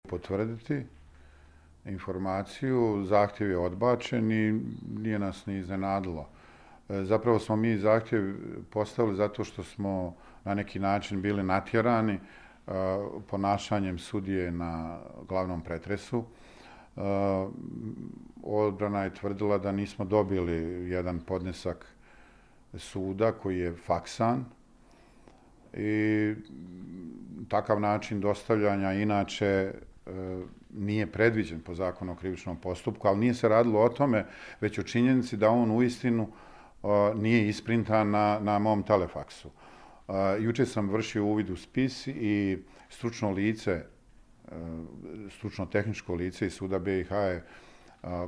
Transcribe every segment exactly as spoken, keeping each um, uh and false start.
potvrditi informaciju, zahtjev je odbačen i nije nas ni iznenadilo. Zapravo smo mi zahtjev postavili zato što smo na neki način bili natjerani ponašanjem sudije na glavnom pretresu. Odbrana je tvrdila da nismo dobili jedan podnesak suda koji je faksan i takav način dostavljanja inače nije predviđen po zakonu o krivičnom postupku, ali nije se radilo o tome, već o činjenici da on uistinu nije isprintan na, na mom telefaksu. Juče sam vršio uvid u spis i stručno lice, stručno tehničko lice iz suda B i H je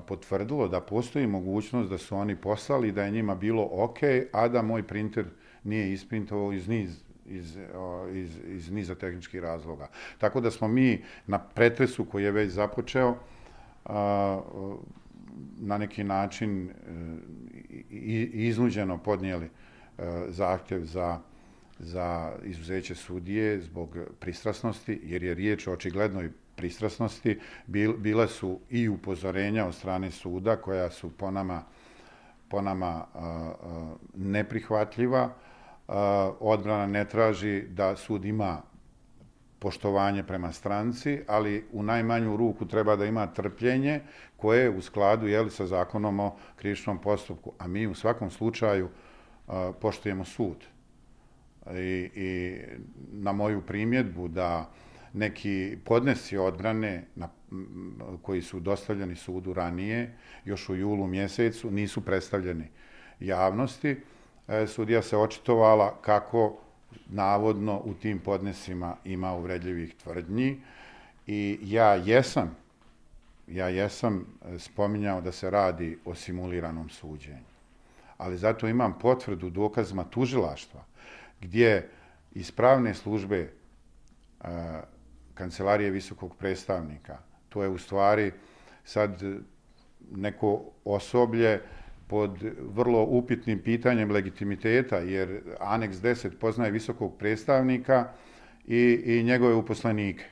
potvrdilo da postoji mogućnost da su oni poslali, da je njima bilo ok, a da moj printer nije isprintovao iz niz Iz, iz, iz niza tehničkih razloga. Tako da smo mi na pretresu koji je već započeo na neki način iznuđeno podnijeli zahtjev za, za izuzeće sudije zbog pristrasnosti, jer je riječ o očiglednoj pristrasnosti. Bile su i upozorenja od strane suda koja su po nama, po nama neprihvatljiva. Odbrana ne traži da sud ima poštovanje prema stranci, ali u najmanju ruku treba da ima trpljenje koje je u skladu jeli, sa zakonom o krivičnom postupku. A mi u svakom slučaju poštujemo sud. I, i na moju primjedbu da neki podnesci odbrane na, koji su dostavljeni sudu ranije, još u julu mjesecu, nisu predstavljeni javnosti. Sudija se očitovala kako navodno u tim podnesima ima uvredljivih tvrdnji i ja jesam, ja jesam spominjao da se radi o simuliranom suđenju. Ali zato imam potvrdu dokazima tužilaštva gdje iz pravne službe Kancelarije visokog predstavnika, to je u stvari sad neko osoblje pod vrlo upitnim pitanjem legitimiteta, jer aneks deset poznaje visokog predstavnika i, i njegove uposlenike.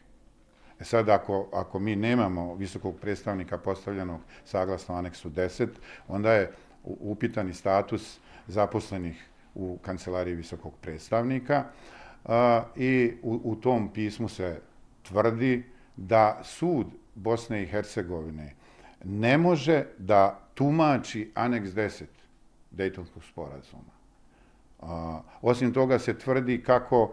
E sad, ako, ako mi nemamo visokog predstavnika postavljenog saglasno aneksu deset, onda je upitani status zaposlenih u Kancelariji visokog predstavnika a, i u, u tom pismu se tvrdi da sud Bosne i Hercegovine ne može da tumači aneks deset Dejtonskog sporazuma. A, osim toga se tvrdi kako,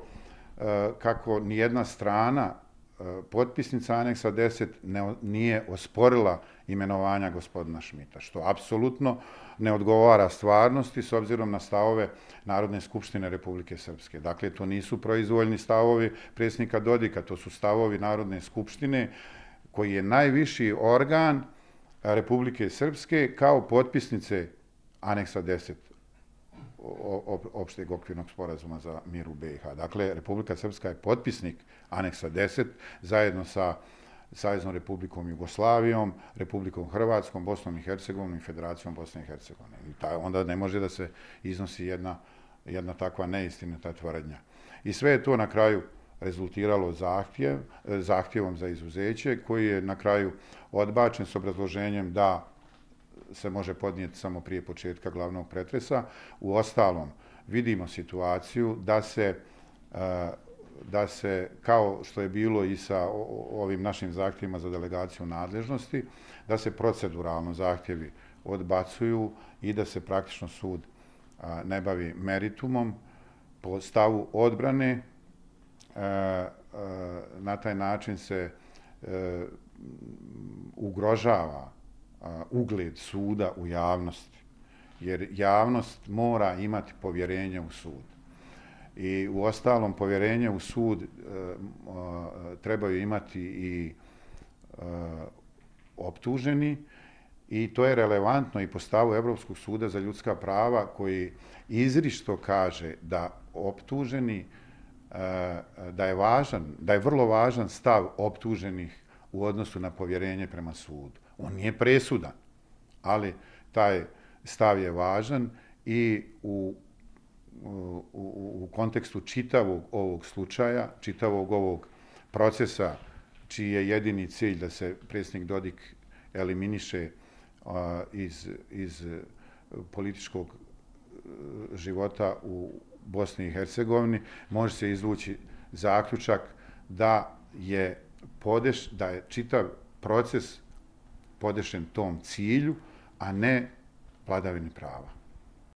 a, kako nijedna strana a, potpisnica aneksa deset ne, nije osporila imenovanja gospodina Šmita, što apsolutno ne odgovara stvarnosti s obzirom na stavove Narodne skupštine Republike Srpske. Dakle, to nisu proizvoljni stavovi predsjednika Dodika, to su stavovi Narodne skupštine koji je najviši organ Republike Srpske kao potpisnice aneksa deset opšteg okvirnog sporazuma za mir u B i H. Dakle, Republika Srpska je potpisnik aneksa deset zajedno sa Saveznom Republikom Jugoslavijom, Republikom Hrvatskom, Bosnom i Hercegovinom i Federacijom Bosne i Hercegovine. I ta, onda ne može da se iznosi jedna, jedna takva neistinita tvrdnja. I sve je to na kraju rezultiralo zahtjev, zahtjevom za izuzeće koji je na kraju odbačen s obrazloženjem da se može podnijeti samo prije početka glavnog pretresa. U ostalom, vidimo situaciju da se, da se, kao što je bilo i sa ovim našim zahtjevima za delegaciju nadležnosti, da se proceduralno zahtjevi odbacuju i da se praktično sud ne bavi meritumom po stavu odbrane. Na taj način se ugrožava ugled suda u javnosti, jer javnost mora imati povjerenje u sud. I u ostalom povjerenje u sud trebaju imati i optuženi i to je relevantno i po stavu Evropskog suda za ljudska prava koji izričito kaže da optuženi da je važan, da je vrlo važan stav optuženih u odnosu na povjerenje prema sudu. On nije presudan, ali taj stav je važan i u, u, u kontekstu čitavog ovog slučaja, čitavog ovog procesa čiji je jedini cilj da se predsjednik Dodik eliminiše iz, iz političkog života u Bosni i Hercegovini, može se izvući zaključak da je, podeš, da je čitav proces podešen tom cilju, a ne vladavini prava.